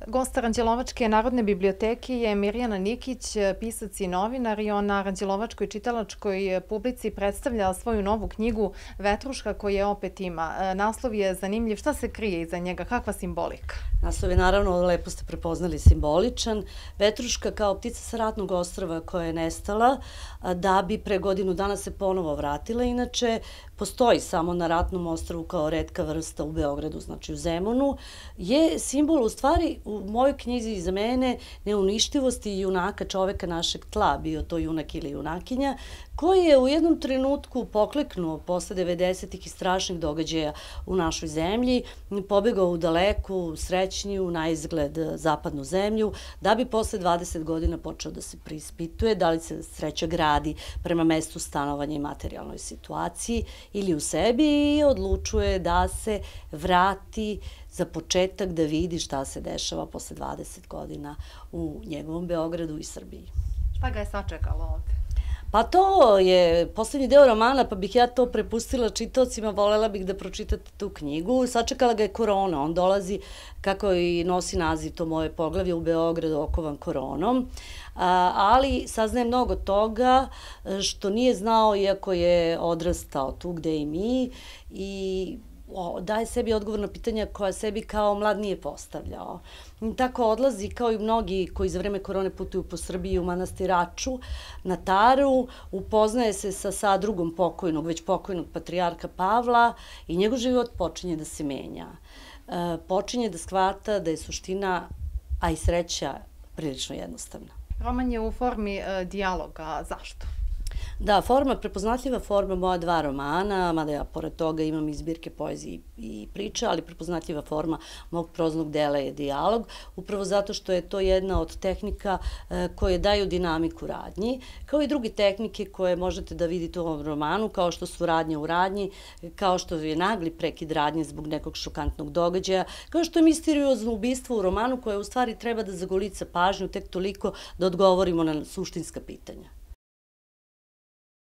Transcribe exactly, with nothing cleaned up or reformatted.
Gost Aranđelovačke narodne biblioteke je Mirjana Nikić, pisac i novinar, i on na Aranđelovačkoj čitalačkoj publici predstavlja svoju novu knjigu Vetruška, koje opet ima. Naslov je zanimljiv. Šta se krije iza njega? Kakva simbolika? Naslov je, naravno, lepo ste prepoznali, simboličan. Vetruška kao ptica sa ratnog ostrva koja je nestala da bi pre godinu dana se ponovo vratila. Inače, postoji samo na ratnom ostrvu kao retka vrsta u Beogradu, znači u Zemunu, je simbol u stvari u mojoj knjizi iza mene neuništivosti junaka, čoveka našeg tla, bio to junak ili junakinja, koji je u jednom trenutku pokleknuo posle devedesetih i strašnih događaja u našoj zemlji, pobegao u daleku, srećniju, na izgled zapadnu zemlju, da bi posle dvadeset godina počeo da se preispituje da li se sreća gradi prema mestu stanovanja i materijalnoj situaciji ili u sebi, i odlučuje da se vrati za početak da vidi šta se dešava posle dvadeset godina u njegovom Beogradu i Srbiji. Šta ga je sačekalo ovde? Pa to je poslednji deo romana, pa bih ja to prepustila čitaocima, volela bih da pročitate tu knjigu. Sačekala ga je korona, on dolazi, kako i nosi naziv to moje poglavlje, u Beogradu okovan koronom, ali saznaje mnogo toga što nije znao, iako je odrastao tu gde i mi, i daje sebi odgovor na pitanja koja sebi kao mlad nije postavljao. Tako odlazi, kao i mnogi koji za vreme korone putuju po Srbiji, u manastir Raču, na Taru, upoznaje se sa sadrugom pokojnog, već pokojnog patrijarha Pavla, i njegov život počinje da se menja. Počinje da shvata da je suština, a i sreća, prilično jednostavna. Roman je u formi dijaloga. Zašto? Da, forma, prepoznatljiva forma moja dva romana, mada ja pored toga imam i zbirke poezije i priče, ali prepoznatljiva forma mog proznog dela je dijalog, upravo zato što je to jedna od tehnika koje daju dinamiku radnji, kao i druge tehnike koje možete da vidite u ovom romanu, kao što su radnja u radnji, kao što je nagli prekid radnje zbog nekog šokantnog događaja, kao što je misteriozno ubistvo u romanu koje u stvari treba da zagolica pažnju tek toliko da odgovorimo na suštinska pitanja.